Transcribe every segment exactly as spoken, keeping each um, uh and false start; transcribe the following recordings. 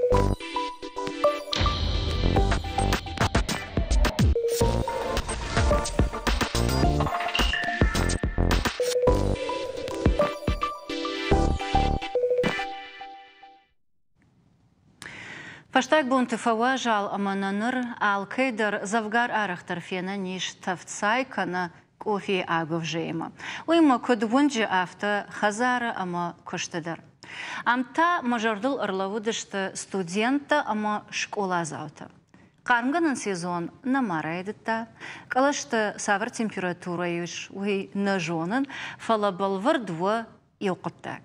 Фӕстаг бонты фӕуазал ӕмӕ нӕ ныр алкӕй дӕр дзӕвгар арӕхдӕр фенӕн ис тӕвд цай кӕнӕ къофийы агуывзӕимӕ. Уыимӕ куыд уынджы, афтӕ хӕдзары ӕмӕ куысты дӕр. Ам та мӕ зӕрдыл ӕрлӕууыдысты студенттӕ ӕмӕ скъоладзаутӕ. Хъармгӕнӕн сезон нӕма райдыдта. Кълӕсты цавӕр температурӕ ис, уый нӕ зонын, фӕлӕ бӕлвырд у иу хъуыддаг.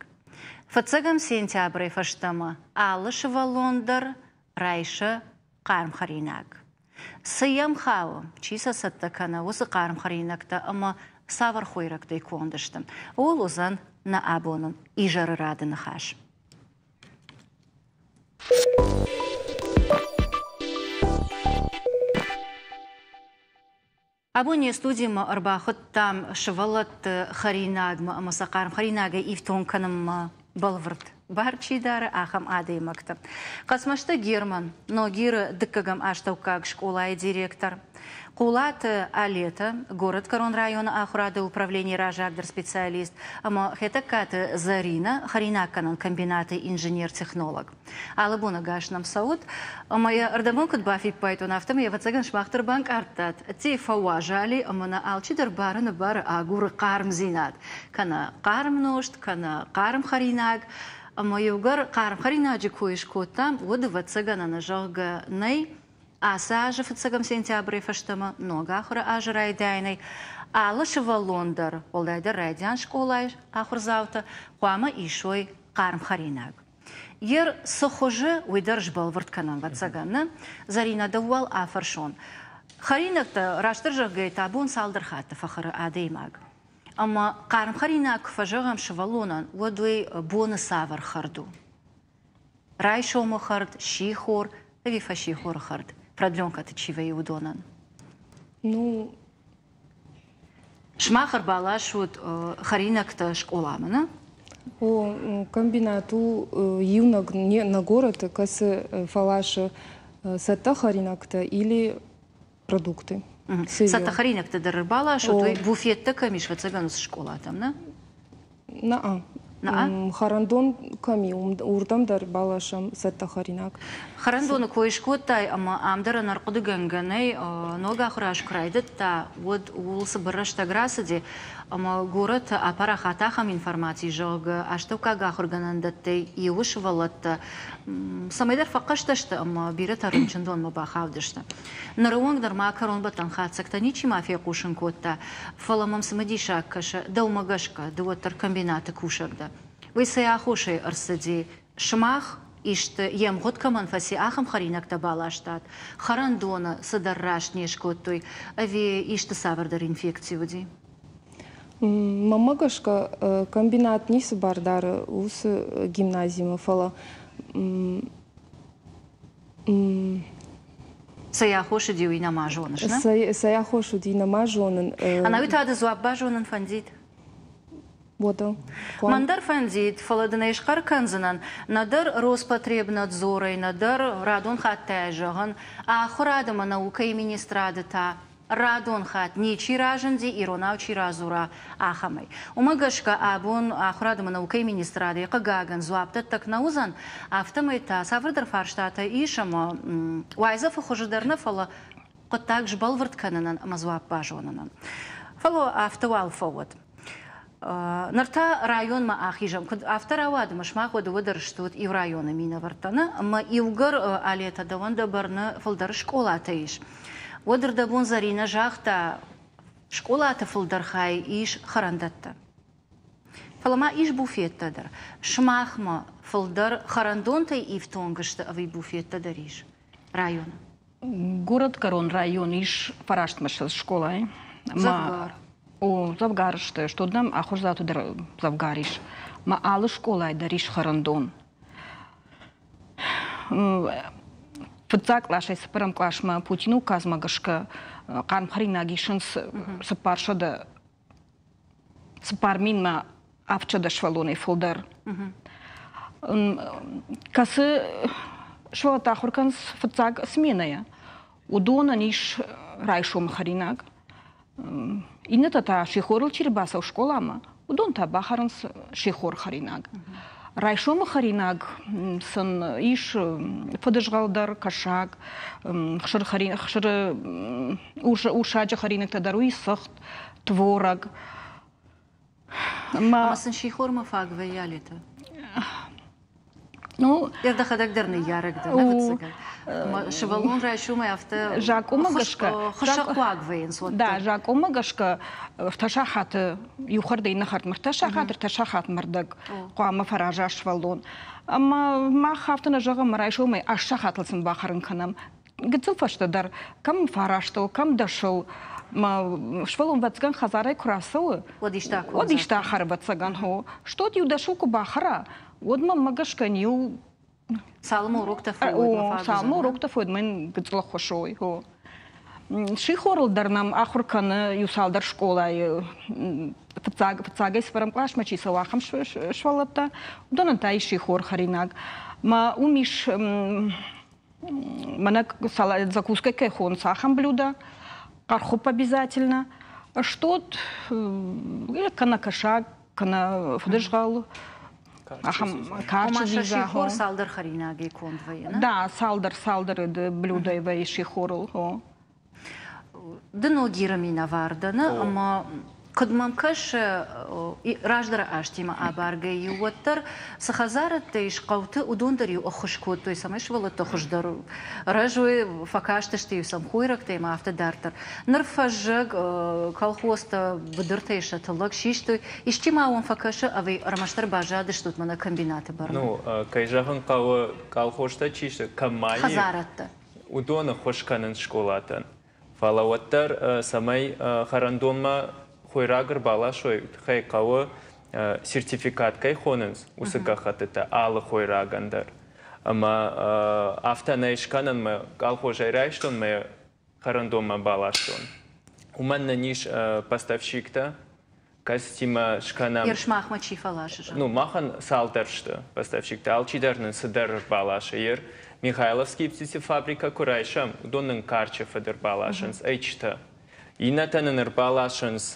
Фыццӕгӕм сентябрӕй фӕстӕмӕ алы сывӕллон дӕр райсы хъарм хӕринаг. Цы йӕм хауы, чи сӕ цӕттӕ кӕны, уыцы хъарм хӕринӕгтӕ ӕмӕ цавӕр хойрӕгтӕй конд сты, ууыл уыдзӕн нӕ абоны изӕры рады ныхас. Абон не студимӕ ӕрбахуыдтам сывӕллӕтты хӕринагмӕ ӕмӕ сӕ хъарм хӕринагӕй ифтонг кӕнынмӕ бӕлвырд бар чи дары, ахӕм адӕймӕгты. Хъӕцмӕзты Герман, Ногиры дыккӕгӕм астӕуккаг скъолайы директор, Хъулаты Алетӕ, Горӕтгӕрон районы ахуырады управленийы раззагдӕр специалист ӕмӕ Хетӕгкаты Зӕринӕ, хӕринаггӕнӕн комбинаты инженер-технолог. Алы бон ӕгас нӕм цӕут, ӕмӕ йӕ ӕрдӕбон куыд бафиппайдтон, афтӕмӕй ӕвӕццӕгӕн сымах дӕр банкъардтат, ӕддейы фӕуазали ӕмӕ нӕ алчидӕр бары бары агуры хъармдзинад, кӕнӕ хъарм нозт, кӕнӕ хъарм хӕринаг. Ӕмӕ иугӕр хъарм хӕринаджы кой скодтам, уӕд ӕвӕццӕгӕн ӕнӕзӕгъгӕ нӕй. Ацы азы фыццӕгӕм сентябрӕй фӕстӕмӕ ног ахуыры азы райдайӕнӕй алы сывӕллон дӕр, уӕлдайдӕр райдиан скъолайы ахуырдзаутӕ, хъуамӕ исой хъарм хӕринаг. Йер цы хуызы, уый дӕр сбӕлвырд кӕнӕм, ӕвӕццӕгӕн, нӕ? Зӕринӕ, дӕу уал афӕрсон. Хӕринӕгтӕ, растдӕр зӕгъгӕйӕ та, бон цалдӕр хатты фӕхӕры адӕймаг. Ӕмӕ хъарм хӕринаг куы фӕзӕгъӕм сывӕллонӕн, уӕд уый боны цавӕр хӕрд у? Райсомы хӕрд, сихор ӕви фӕссихоры хӕрд? Продленкӕты чи вӕййы уыдонӕн? Ну, Сымах ӕрбаласут хӕринӕгтӕ скъоламӕ, нӕ? О, комбинат у иунӕг нӕ горӕты, кӕцы фӕласы цӕттӕ хӕринӕгтӕ или продукты. Цӕттӕ хӕринӕгтӕ дӕр ӕрбаласут, уый буфеттӕ кӕм ис, ӕвӕццӕгӕн, уыцы скъолатӕм, нӕ? Нӕ. Нӕ? Хӕрӕндон кӕм и, уырдӕм дӕр баласӕм цӕттӕ хӕринаг. Хӕрӕндоны кой скодтай ӕмӕ ам дӕр ӕнӕрхъуыдыгӕнгӕ нӕй, ног ахуыр аз куы райдыдта, уӕд ууыл цыбыр рӕстӕг рацыди, ӕмӕ горӕты апарахат ахӕм информаци, зӕгъгӕ, астӕуккаг ахуыргӕнӕндӕттӕй иуы сывӕллӕттӕ цӕмӕйдӕр фӕхъӕстӕ сты ӕмӕ бирӕтӕ рынчындонмӕ бахаудысты. Ныры онг нырма кӕронбӕттӕн хатдзӕгтӕ ничима фехъусын кодта, фӕлӕ мӕм цымыдисаг кӕсы, дӕумӕ гӕсгӕ, ды уӕддӕр комбинаты кусӕг дӕ. Уый цӕй аххосӕй ӕрцыди? Сымах исты йе мгъуыд кӕмӕн фӕци, ахӕм хӕринӕгтӕ баластат? Хӕрӕндоны цыдӕр раст не скодтой ӕви исты цавӕрдӕр инфекци уыди? Мӕнмӕ гӕсгӕ, комбинат ницы бар дары уыцы гимназимӕ, фӕлӕ Цӕй аххос уыди, уый нӕма зоныс, нӕ? Цӕй аххос уыди, нӕма зонын. Ӕнӕуи та ды дзуапп базонын фӕндид? Уӕдӕ. Мӕн дӕр фӕндид, фӕлӕ дын ӕй схъӕр кӕндзынӕн, нӕдӕр Роспотребнадзорӕй, нӕдӕр радон хаттӕй зӕгъын, ахуырад ӕмӕ наукӕйы министрады та радон хатт ничи разынди, иронау чи радзура, ахӕмӕй. Уымӕ гӕсгӕ абон ахуырад ӕмӕ наукӕйы министрадӕй хъыгагӕн дзуапдӕттӕг нӕ уыдзӕн, афтӕмӕй та цавӕрдӕр фарстатӕ ис ӕмӕ уайдзӕфы хуызы дӕр нӕ, фӕлӕ хъуыддаг сбӕлвырд кӕнынӕн ӕмӕ дзуапп базонынӕн. Фӕлӕ афтӕ уал фӕуӕд. Ныр та районмӕ ахизӕм. Куыд афтӕ рауад, ӕмӕ сымах уӕ дыууӕ дӕр стут иу районы минӕвӕрттӕ, нӕ? Ӕмӕ иугӕр Алетӕ дӕуӕн дӕ бӕрны фылдӕр скъолатӕ ис. Уӕд ӕрдӕбон Зӕринӕ загъта, скъолаты фылдӕр хай ис хӕрӕндӕттӕ. Фӕлӕ ма ис буфеттӕ дӕр. Сымахмӕ фылдӕр хӕрӕндонтӕй ифтонг сты ӕви буфеттӕ дӕр ис районы? Горӕтгӕрон район ис фарастмӕ скъолайы. Дзӕвгар. О, дзӕвгар сты. Что нӕм ахуырдзауты дӕр дзӕвгар ис. Ма алы скъолайы дӕр ис хӕрӕндон. Фыццаг къласӕй цыппӕрӕм къласмӕ Путины указмӕ гӕсгӕ хъарм хӕринаг исынц цыппарсӕдӕ цыппар минмӕ авдсӕдӕ сывӕллонӕй фылдӕр. Кӕцы Сывӕллӕттӕ ахуыр кӕнынц фыццаг сменӕйӕ. Уыдонӕн ис райсомы хӕринаг. Иннӕтӕ та сихорыл чи рбацӕуы скъоламӕ, уыдон та бахӕрынц сихор хӕринаг. Райсомы хӕринаг сын ис фыдызгъӕл дӕр, кӕсаг, хсыры урсаджы хӕринӕгтӕ дӕр, уый цыхт, творог. Ӕмӕ сын сихормӕ фаг вӕййы Алетӕ? Ну, дӕхӕдӕг дӕр ныййарӕг дӕ, ӕвӕццӕгӕн. Сывӕллон райсомӕй афтӕ закъонмӕ гӕсгӕ хуыссӕгхъуаг вӕййынц уӕддӕр. Да, закъонмӕ гӕсгӕ ӕртӕ сахаты иу хӕрдӕй иннӕ хӕрдмӕ ӕртӕ сахат, ӕртӕ сахатмӕ ӕрдӕг хъуамӕ фӕраза сывӕллон. Ӕмӕ мах афтӕ нӕ зӕгъӕм, райсомӕй аст сахатыл сын бахӕрын кӕнӕм. Гыццыл фӕстӕдӕр кӕм фарастыл, кӕм дӕсыл, ма сывӕллон ӕвӕццӕгӕн хӕдзарӕй куы рацӕуы, уӕд исты уӕд исты ахӕры ӕвӕццӕгӕн, хо. Стод иу дӕсыл куы бахӕра, уӕд мӕм гӕсгӕ иу цалынмӕ уроктӕ фӕуӕд, цалынмӕ уроктӕ фӕуӕд, мӕн гыццыл ӕххуыс уой. Сихорыл дӕр нӕм ахуыр кӕны иу цалдӕр скъолайы фыццаг, фыццагӕй цыппӕрӕм къласмӕ чи цӕуы, ахӕм сывӕллӕттӕ. Уыдонӕн та ис сихор хӕринаг. Ма уым ис мӕнӕ закуска кӕй хонынц, ахӕм блюдо, хъӕрхуыпп обязательно, стод кӕнӕ кӕсаг, кӕнӕ фыдызгъӕл, ахӕм карчы дзидза. Сихор цалдӕр хӕринагӕй конд вӕййы, Да, цалдӕр, цалдӕр блюдӕй вӕййы сихорыл. Ды Ногиры минӕвар дӕ, ӕмӕ куыд мӕм кӕсы, раздӕры азтимӕ абаргӕ-иу уӕддӕр цы хӕдзарӕдтӕ ис хъӕуты, уыдон дӕр-иу ӕххуыс кодтой, цӕмӕй сывӕллӕттӕ хуыздӕр рӕзой, фӕкастысты-иу сӕм хойрӕгтӕ ӕмӕ афтӕ дарддӕр. Ныр фӕззӕг колхозтӕ быдыртӕй сӕ тыллӕг систой. Исчи ма уӕм фӕкӕсы ӕви ӕрмӕстдӕр баззадыстут мӕнӕ комбинаты бӕрны? Ну, кӕй зӕгъын хъӕуы, колхозтӕ чи сты, кӕм ма и, хӕдзарӕдтӕ. Уыдон ӕххуыс кӕнынц скъолатӕн. Фӕлӕ уӕддӕр, цӕмӕй хӕрӕндонмӕ хойраг ӕрбаласой, тыххӕй хъӕуы сертификат кӕй хонынц, уыцы гӕххӕттытӕ алы хойрагӕн дӕр. Ӕмӕ афтӕ нӕ скӕнӕн, мӕ колхозӕй райстон, мӕ хӕрӕндонмӕ баластон. Уымӕн нын ис поставщиктӕ, кӕцытимӕ скӕнӕм. Ер сымахмӕ чи фӕласы? Ну, махӕн цалдӕр сты поставщиктӕ, алчидӕр нын цыдӕр ӕрбаласы. Ер Михайловский птицефабрикӕ куы райсӕм, уыдон нын карчы фыд ӕрбаласынц, ӕйчытӕ. Иннӕтӕ нын ӕрбаласынц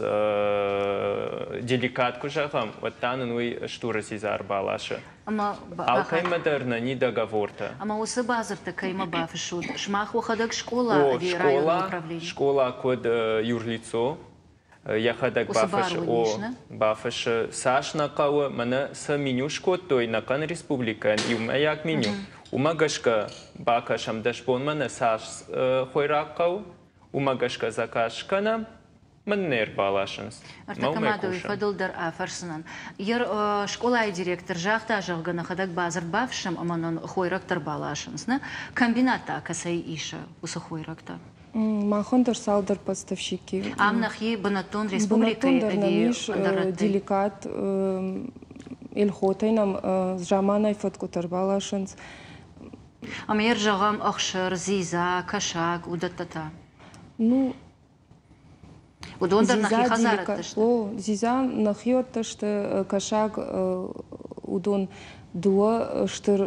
деликат куы зӕгъӕм, уӕд та нын уый стуры дзидза ӕрбаласы. Алкӕимӕ дӕр нӕ ни договортӕ. Ӕмӕ уыцы бадзырдтӕ кӕимӕ бафыссут? Сымах уӕхӕдӕг скъола ӕви районы управлени? Скъола куыд юрлицо, йӕхӕдӕг бафыссы, о, бафыссы, цас нӕ хъӕуы, мӕнӕ цы меню скодтой нӕхъӕн республикӕйӕн, иумӕйаг меню, уымӕ гӕсгӕ бакӕсӕм дӕс бонмӕ нӕ цас хойраг хъӕуы, уымӕ гӕсгӕ заказ скӕнӕм, мын не рбаласынц. Ӕртӕккӕ ма фӕдыл дӕр афӕрсынӕн. Ер скъолайы директор загъта, зӕгъгӕ, нӕхӕдӕг бадзырд бафыссӕм ӕмӕ нын хойрӕгтӕ ӕрбаласынц. Комбинат та кӕцӕй исы уыцы хойрӕгтӕ? Махӕн дӕр цалдӕр поставщики. Ам нӕхи бынӕттон республикӕйы Бынӕттон дӕр нӕм ис деликат Эльхотӕй нӕм заманай фӕткъуытӕ ӕрбаласынц. Ӕмӕ ер зӕгъӕм ӕхсыр, дзидза, кӕсаг, уыдӕттӕ та? Ну, уыдон дӕр нӕхи хӕдзарӕдтӕ сты? О, дзидза нӕхиуӕттӕ сты, кӕсаг уыдон дыууӕ стыр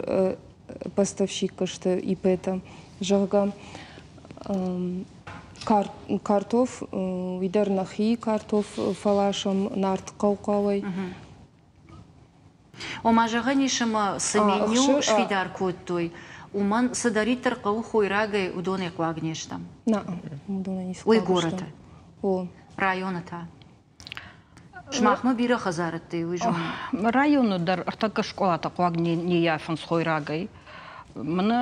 поставщик сты ИП-тӕ, зӕгъгӕ. Картоф, уый дӕр нӕхи картоф фӕласӕм Нартыхъӕу хъӕуӕй. Ома зӕгъӕн ис ӕмӕ цы меню сфидар кодтой, уымӕн цыдӕриддӕр хъӕуы хойрагӕй, уыдонӕй хъуаг не стӕм? Нӕ, уыдонӕй ницы Уый горӕты? О. Районы та? Сымахмӕ бирӕ хӕдзарӕдтӕ, уый зонын. Районы дӕр ӕртӕккӕ скъолатӕ хъуаг не ййафынц хойрагӕй. Мӕнӕ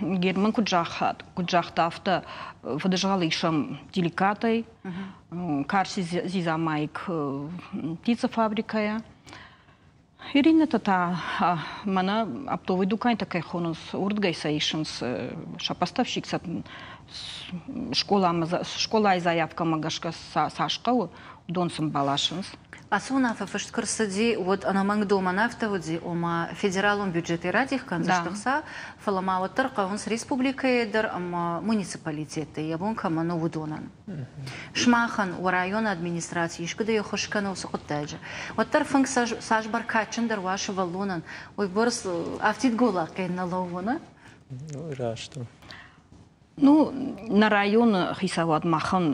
Герман куыд загъта, куыд загъта, афтӕ фыдызгъӕл исӕм деликатӕй, карчы дзидза майк птицефабрикӕйӕ. Иринӕтӕ та мӕнӕ оптовый дукантӕ кӕй хонынц, уырдыгӕй сӕ исынц сӕ поставщик сӕ скъолайы заявкӕмӕ гӕсгӕ цас хъӕуы, уыдон сын баласынц. Ацы уынаффӕ фыст куы рцыди, уӕд ӕнӕмӕнг домӕн афтӕ уыди, ома федералон бюджетӕй радих кӕндзысты хца, фӕлӕ ма уӕддӕр хъӕуынц республикӕйы дӕр ӕмӕ муниципалитеттӕ, йӕ бон кӕмӕн у, уыдонӕн. Сымахӕн уӕ районы администраци искуыдӕй ӕххуыс кӕны уыцы хъуыддаджы? Уӕддӕр фынг цас бӕркадджындӕр уа сывӕллонӕн, уыйбӕрц афтид голлаггӕй нӕ лӕууы, нӕ? Ну, раст у. Ну, нӕ районы хицауад махӕн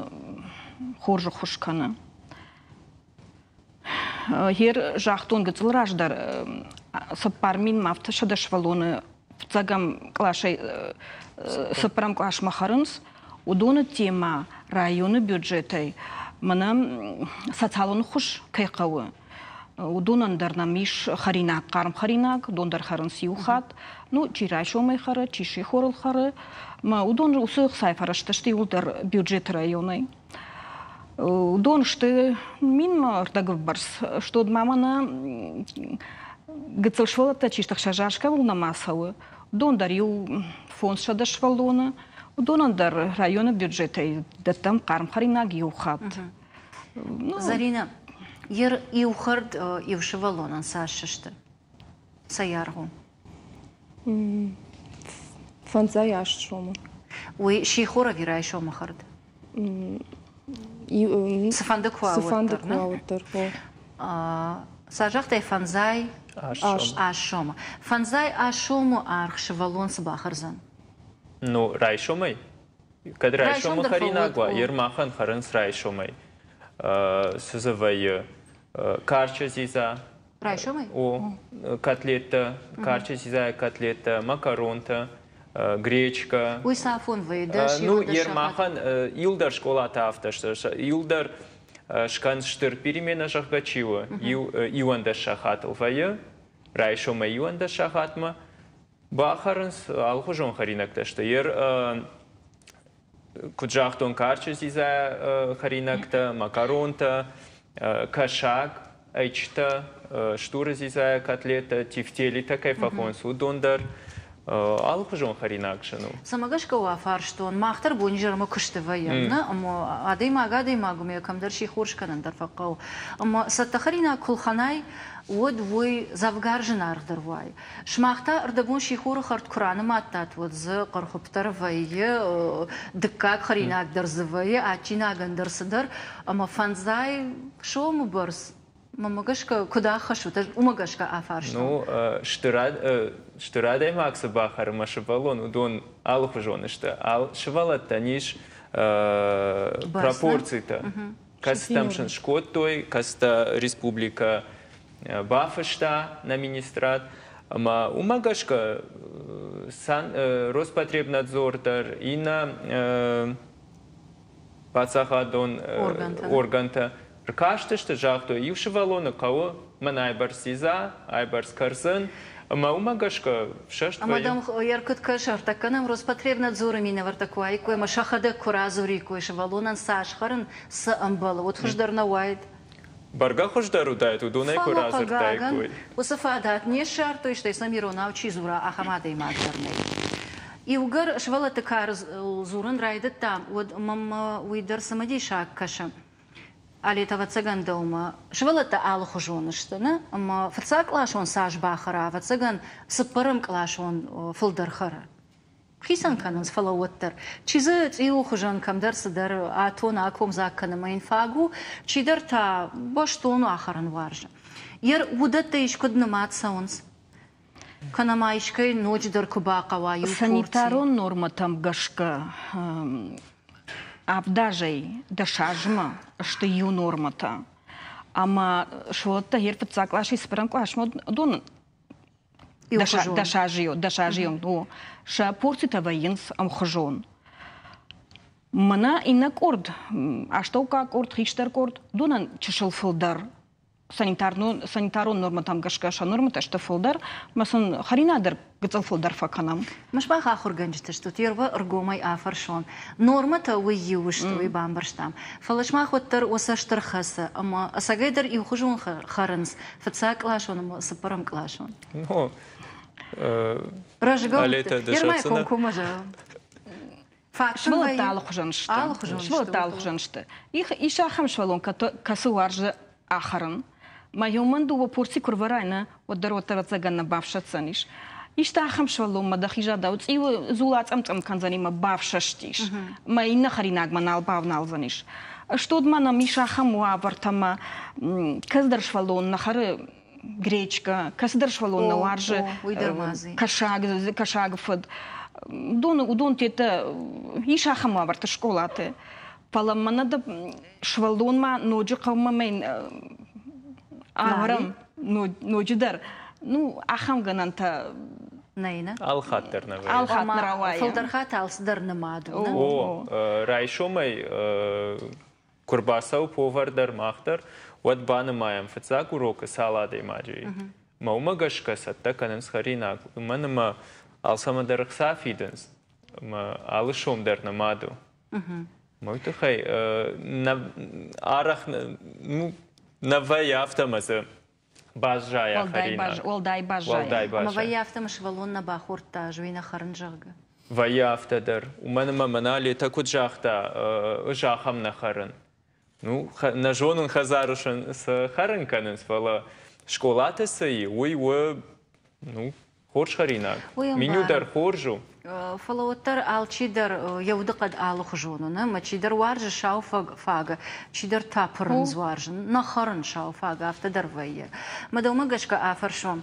хорз ӕххуыс кӕны. Гьер загътон гыццыл раздӕр цыппар минмӕ афтӕ сӕдӕ сывӕллоны фыццӕгӕм къласӕй цыппӕрӕм къласмӕ хӕрынц. Уыдоны темӕ районы бюджетӕй мӕнӕ социалон ӕххуыс кӕй хъӕуы, уыдонӕн дӕр нӕм ис хӕринаг, хъарм хӕринаг, уыдон дӕр хӕрынц иу хатт. Ну, чи райсомӕй хӕры, чи сихорыл хӕры. Мӕ уыдон уыцы ӕхцайы фӕрӕзтӕ сты иууылдӕр бюджеты районӕй. Уыдон сты минмӕ ӕрдӕгы бӕрц. Стод ма мӕнӕ гыццыл сывӕллӕттӕ чи сты, ӕхсӕз аз кӕуыл нӕма цӕуы, уыдон дӕр иу фондз сӕдӕ сывӕллоны. Уыдонӕн дӕр районы бюджетӕй дӕттӕм хъарм хӕринаг иу хатт. Зарина, ер иу хӕрд иу сывӕллонӕн цас сысты? Цӕй аргъ у? Фӕндзай аст сомы. Уый сихор ӕви райсомы хӕрд? Цыфӕнды куы уа, Цыфӕнды куы уа, уӕддӕр. Цас загътай, фӕндзай аст сомы. Фӕндзай аст сомы аргъ сывӕллон цы бахӕрдзӕн? Ну, райсомӕй. Кӕд райсомы хӕринаг уа, ер махӕн хӕрынц райсомӕй. Цы дзы вӕййы? Карчы дзидза. Райсомӕй? О, котлеттӕ, карчы дзидзайы котлеттӕ, макаронтӕ, гречка. Уый цафон вӕййы? Дӕс Ну, ер махӕн иуылдӕр скъолатӕ афтӕ сты. Иуылдӕр скӕн стыр перемена, зӕгъгӕ, чи у, иуӕндӕс сахатыл вӕййы, райсомӕй иуӕндӕс сахатмӕ. Бахӕрынц алыхуызон хӕринӕгтӕ сты. Ер куыд загътон, карчы дзидзайӕ хӕринӕгтӕ, макаронтӕ, кӕсаг, ӕйчытӕ, стуры дзидзайӕ котлеттӕ, тефтелитӕ кӕй фӕхонынц, уыдон дӕр алыхуызон хӕринаг сын у. Цӕмӕ гӕсгӕ уӕ фарстон, мах дӕр бонизӕрмӕ куысты вӕййӕм, нӕ? Ӕмӕ адӕймаг адӕймаг у, кӕмдӕр сихор скӕнын дӕр фӕхъӕуы. Ӕмӕ цӕттӕ хӕринаг куы лхӕнай, уӕд уый дзӕвгар зынаргъдӕр уайы. Сымах та ӕрдӕбон сихоры хӕрд куы ранымадтат, уӕд дзы хъӕрхуыпп дӕр вӕййы, дыккаг хӕринаг дӕр дзы вӕййы, адджинагӕн дӕр цыдӕр, ӕмӕ фӕндзай сомы бӕрц мӕнмӕ гӕсгӕ куыд ӕххӕссут, ӕз уымӕ гӕсгӕ афарстон. Ну, стыр адӕймаг цы бахӕры мӕ сывӕллон, уыдон алыхуызон сты. Сывӕллӕттӕн ис пропорцитӕ. Кӕцытӕм сын скодтой, кӕцытӕ республикӕ бафыста нӕ министрад. Ӕмӕ уымӕ гӕсгӕ Роспотребнадзор дӕр, иннӕ паддзахадон органтӕ ркастысты, загътой, иу сывӕллоны хъӕуы мӕн айбӕрц дзидза, айбӕрц кӕрдзын, ӕмӕ уымӕ гӕсгӕ фсӕст Ӕмӕ дӕм йӕ куыд кӕсы, ӕртӕккӕ нӕм Роспотребнадзоры минӕвӕрттӕ куы уаиккой ӕмӕ сӕхӕдӕг куы радзуриккой, сывӕллонӕн цас хӕрын цы ӕмбӕлы, уӕд хуыздӕр нӕ уаид? Бӕргӕ хуыздӕр уыдаид, уыдонӕй куы радзырдтаиккой. Уыцы фадат не ссардтой, стӕй сӕм иронау чи дзура, ахӕм адӕймаг дӕр нӕй. Иугӕр сывӕллӕтты кары дзурын райдыдтам, уӕд мӕм уый дӕр цымыдисаг кӕсы. Алет, ӕвӕццӕгӕн дӕумӕ сывӕллӕттӕ алыхуызон сты, нӕ? Ӕмӕ фыццаг къласон цас бахӕра, ӕвӕццӕгӕн цыппӕрӕм къласон фылдӕр хӕры. Хицӕн кӕнынц, фӕлӕ уӕддӕр. Чи дзы цъиуы хуызӕн кӕмдӕр цыдӕр атон, акомдзаг кӕны ӕмӕ йын фаг у, чидӕр та бӕстон ахӕрын уарзы. Ер уыдӕттӕ искуыд нымад цӕуынц? Кӕнӕ ма искӕй ноджыдӕр куы бахъӕуа иу порци? Санитарон нормӕтӕм гӕсгӕ авдазӕй дӕсазмӕ сты иу нормӕтӕ. Ӕмӕ сывӕллӕттӕ гьер фыццаг къласӕй цыппӕрӕм къласмӕ уыдон дӕсазы о, сӕ порцитӕ вӕййынц ӕмхуызон. Мӕнӕ иннӕ къорд, астӕуккаг къорд, хистӕр къорд, уыдонӕн чысыл фылдӕр санитарон нормӕтӕм гӕсгӕ сӕ нормӕтӕ сты фылдӕр, ӕмӕ сын хӕринаг дӕр гыццыл фылдӕр фӕкӕнӕм. Сымах ахуыргӕнджытӕ стут, ервӕ ӕргомӕй афӕрсон. Нормӕтӕ уый иу сты, уый бамбӕрстам. Фӕлӕ сымах уӕддӕр уӕ цӕст ӕрхӕцы ӕмӕ ӕцӕгӕйдӕр иухуызон хӕрынц фыццаг къласон ӕмӕ цыппӕрӕм къласон. Ну, Рӕзгӕ Ермӕ комкоммӕ зӕгъӕм. Сывӕллӕттӕ алыхуызон сты. Сывӕллӕттӕ алыхуызон сты. Ис ахӕм сывӕллон, кӕцы уарзы ахӕрын. Мӕ иумӕн дыууӕ порци куы рвӕрай, нӕ, уӕддӕр уӕддӕр ӕцӕгӕн нӕ бафсӕддзӕнис. Исты ахӕм сывӕллонмӕ дӕхи задау цъиуы дзул ацъӕм-цъӕм кӕндзӕни мӕ бафсӕстис. Мӕ иннӕ хӕринагмӕ нал бавналдзӕнис. Стод ма нӕм ис ахӕм уавӕртӕ мӕ кӕцыдӕр сывӕллон нӕ хӕры гречка, кӕцыдӕр сывӕллон нӕ уарзы кӕсаг, кӕсагы фыд. Уыдон, уыдон теттӕ ис ахӕм уавӕрты скъолаты. Фӕлӕ мӕнӕ дӕ сывӕллонмӕ ноджы хъӕумӕ мӕн ӕвӕрӕм ноджыдӕр. Ну, ахӕм гӕнӕнтӕ нӕй, нӕ? Алхатт дӕр нӕ вӕййы. Алхатт нӕ рауайы. Фылдӕр хатт алцыдӕр нымад у, нӕ? О, райсомӕй куы рбацӕуы повар дӕр, мах дӕр, уӕд банымайӕм фыццаг урокы цал адӕймаджы и. Мӕ уымӕ гӕсгӕ цӕттӕ кӕнынц хӕринаг, уымӕн ӕмӕ алцӕмӕ дӕр ӕхца фидынц, ӕмӕ алы сом дӕр нымад у. Мӕ уый тыххӕй нӕ арӕх нӕ вӕййы афтӕ ӕмӕ дзы баззайа хӕринаг. Уӕлдай баззайа. Уӕлдай Ӕмӕ вӕййы афтӕ ӕмӕ сывӕллон нӕ бахордта, ӕз уый нӕ хӕрын, зӕгъгӕ? Вӕййы афтӕ дӕр. Уымӕн ӕмӕ мӕнӕ Летӕ куыд загъта, ӕз ахӕм нӕ хӕрын. Ну, нӕ зонын хӕдзары цы хӕрын кӕнынц, фӕлӕ скъолаты цы и, уый у, ну, хорз хӕринаг. Меню дӕр хорз у. Фӕлӕ уӕддӕр алчидӕр йӕ удыхъӕд алыхуызон у, нӕ? Ӕмӕ чидӕр уарзы сау фагӕ, чидӕр та пырындз уарзы. Нӕ хӕрын сау фагӕ, афтӕ дӕр вӕййы. Мӕ дӕумӕ гӕсгӕ афӕрсон,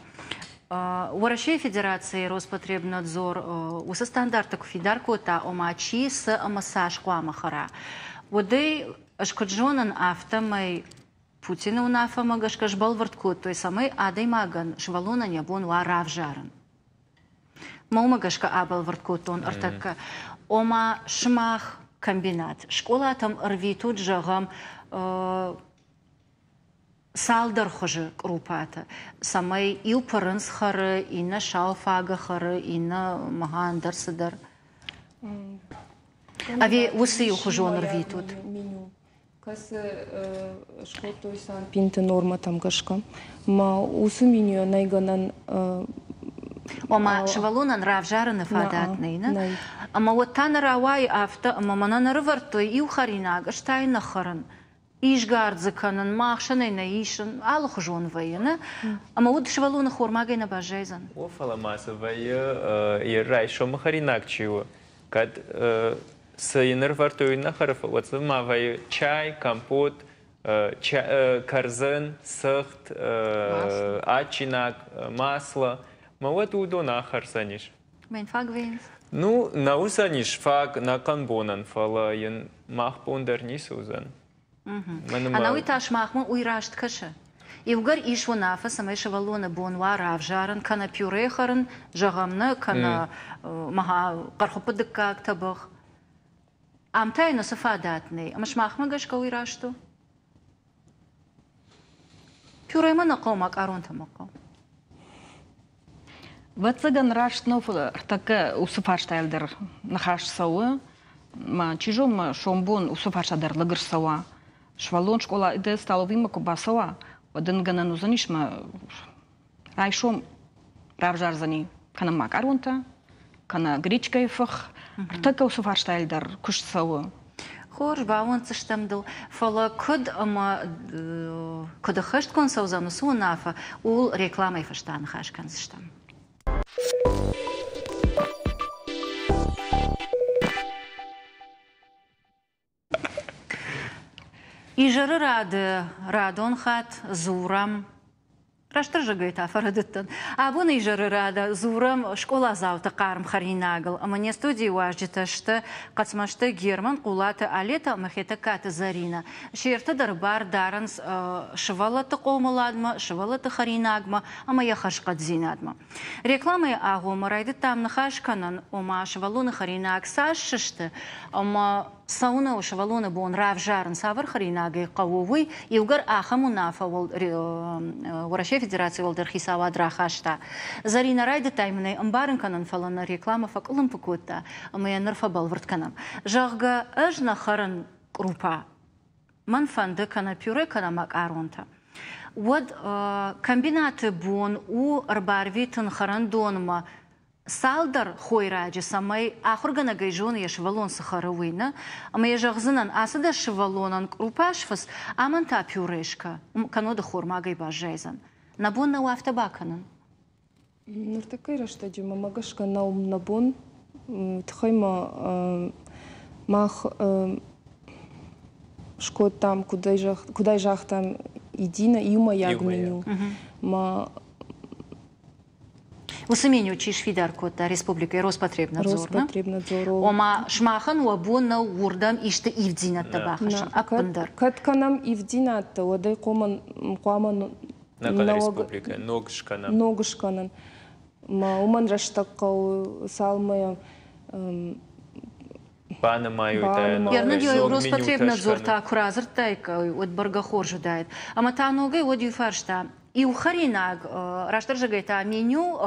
Уӕрӕсейы Федерацийы Роспотребнадзор уыцы стандарттӕ куы фидар кодта, ома чи цы ӕмӕ цас хъуамӕ хӕра, уӕдӕй ӕз куыд зонын, афтӕмӕй Путины уынаффӕмӕ гӕсгӕ сбӕлвырд кодтой, цӕмӕй адӕймагӕн, сывӕллонӕн йӕ бон уа равзарын. Мӕ уымӕ гӕсгӕ абӕлвырд кодтон ӕртӕккӕ. Ома сымах комбинат скъолатӕм ӕрвитут, зӕгъӕм, цалдӕр хуызы кърупатӕ, цӕмӕй иу пырындз хӕры, иннӕ сау фагӕ хӕры, иннӕ мӕгъа ӕндӕр цыдӕр. Ӕви уыцы иухуызон ӕрвитут? Кӕцы скодтой санпинты нормӕтӕм гӕсгӕ. Ма уыцы менюйӕ нӕй гӕнӕн Ома сывӕллонӕн равзарыны фадат нӕй, нӕ? Ӕмӕ уӕд та нӕ рауайы афтӕ, ӕмӕ мӕнӕн ӕрывӕрдтой иу хӕринаг, ӕз та йын нӕ хӕрын. Изгард дзы кӕнын, мӕ ахсӕнӕй нӕ исын, алыхуызон вӕййы, нӕ? Ӕмӕ уӕд сывӕллоны хормагӕй нӕ баззайдзӕн. О, фӕлӕ ма цы вӕййы, йе райсомы хӕринаг чи у, кӕд цы йын ӕрывӕрдтой, уый нӕ хӕры, уӕд дзы ма вӕййы чай, компот, кӕрдзын, цыхт, адджинаг, масло. Мӕ уӕд уыдон ахӕрдзӕнис. Мӕн фаг вӕййынц? Ну, нӕ уыдзӕнис фаг нӕхъӕн бонӕн, фӕлӕ йын мах бон дӕр ницы уыдзӕн. Ӕнӕуый та сымахмӕ уый раст кӕсы? Иугӕр ис уынаффӕ, цӕмӕй сывӕллоны бон уа равзарын, кӕнӕ пюре хӕрын, зӕгъӕм нӕ, кӕнӕ мӕгъа хъӕрхуыппы дыккаг тӕбӕгъ. Ам та йын уыцы фадат нӕй. Ӕмӕ сымахмӕ гӕсгӕ уый раст у? Пюремӕ нӕ хъӕуы, макъаронтӕ мӕ хъӕуы. Ӕвӕццӕгӕн раст нӕу, фӕлӕ ӕртӕккӕ уыцы фарстайыл дӕр ныхас цӕуы. Ма чи зоны, ма сомбон уыцы фарста дӕр лыг ӕрцӕуа. Сывӕллон скъола столовыймӕ куы бацӕуа, уӕд ын гӕнӕн уыдзӕнис мӕ райсом равзардзӕни кӕнӕ макъаронтӕ, кӕнӕ гречкӕйы фых. Ӕртӕккӕ уыцы фарстайыл дӕр куыст цӕуы. Хорз, бауӕнддзыстӕм дыл, фӕлӕ куыд ӕмӕ куыд ӕххӕстгонд цӕудзӕн уыцы уынаффӕ, ууыл рекламӕйы фӕстӕ ныхас кӕндзыстӕм. Изӕры рады радон хатт дзурӕм, растдӕр зӕгъгӕй та фӕрӕдыдтӕн. Абоны изӕры рады дзурӕм скъоладзауты хъарм хӕринагыл, ӕмӕ не студийы уазджытӕ сты Хъӕцмӕзты Герман, Хъулаты Алетӕ ӕмӕ Хетӕгкаты Зӕринӕ. Се ртӕ дӕр бар дарынц сывӕллӕтты хъомыладмӕ, сывӕллӕтты хӕринагмӕ ӕмӕ йӕ хӕрзхъӕддзинадмӕ. Рекламӕйы агъоммӕ райдыдтам ныхас кӕнын, ома сывӕллоны хӕринаг цас сысты ӕмӕ цӕуынӕ у сывӕллоны бон равзарын, цавӕр хӕринагӕй хъӕуы, уый. Иугӕр ахӕм уынаффӕ Уӕрӕсейы Федерацийы уӕлдӕр хицауад рахаста. Зӕринӕ, райдыдтай мын ӕй ӕмбарын кӕнын, фӕлӕ нӕ рекламӕ фӕкъуылымпы кодта, ӕмӕ йӕ ныр фӕбӕлвырд кӕнӕм. Зӕгъгӕ, ӕз нӕ хӕрын кърупа. Мӕн фӕнды кӕнӕ пюре, кӕнӕ макъаронтӕ. Уӕд комбинаты бон у ӕрбарвитын хӕрӕндонмӕ цалдӕр хойраджы, цӕмӕй ахуыргӕнӕгӕй зоны, йӕ сывӕллон цы хӕры, уый, нӕ? Ӕмӕ йӕ зӕгъдзынӕн, ацы дӕс сывӕллонӕн кърупа сфыц, амӕн та пюре скӕ, кӕннод хормагӕй баззайдзӕн. Нӕ бон нӕу афтӕ бакӕнын? Ныртӕккӕйы рӕстӕджы мӕмӕ гӕсгӕ нӕу нӕ бон. Тыххӕй ма мах скодтам, куыдӕй загътам, едино иумӕйаг меню. Ма Уыцы меню чи сфидар кодта республикӕйы Роспотребнадзор? Роспотребнадзор. Ома сымахӕн уӕ бон нӕу уырдӕм исты ивддзинӕдтӕ бахӕссын ӕппындӕр? Кӕд кӕнӕм ивддзинӕдтӕ, уӕд ӕй хъуамӕ республикӕ ног скӕнӕм. Ног скӕнын. Уымӕн рӕстӕг хъӕуы, цалынмӕ банымайой. Роспотребнадзор та куы радзырдтаиккой, уӕд бӕргӕ хорз уыдаид. Ӕмӕ та ногӕй уӕд иу фарста. Иу хӕринаг, растдӕр зӕгъгӕй та меню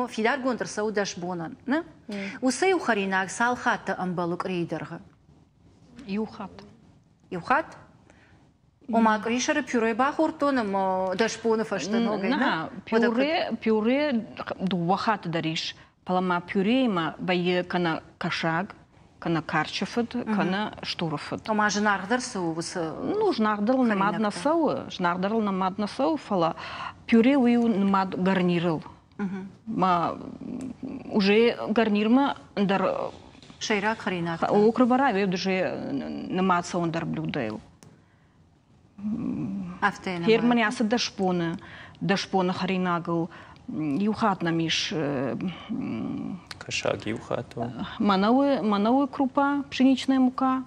фидаргонд ӕрцӕуы дӕс бонӕн. Уыцы иу хӕринаг цал хатты ӕмбӕлы къуырийы дӕргъы? Иу хатт. Иу хатт? Ома къуырисӕры пюре бахордтон ӕмӕ дӕс боны фӕстӕ ногӕй, нӕ? Пюре, пюре дыууӕ хатты дӕр ис. Фӕлӕ ма пюреимӕ вӕййы кӕнӕ кӕсаг, кӕнӕ карчы фыд, кӕнӕ стуры фыд. Ома зынаргъдӕр цы у уыцы? Ну, зынаргъдӕрыл нымад нӕ цӕуы, зынаргъдӕрыл нымад нӕ цӕуы, фӕлӕ пюре уый у нымад гарнирыл. Ма уже гарнирмӕ ӕндӕр сӕйраг хӕринаг. Окрыбара уже нымад цӕуы ӕндӕр блюдӕйыл. Афтӕ Фермӕн ацы дӕс боны, дӕс боны хӕринагыл иу хатт нӕм ис кӕсаг иу хатт. Мӕнӕуы, мӕнӕуы крупа, пшеничная мука,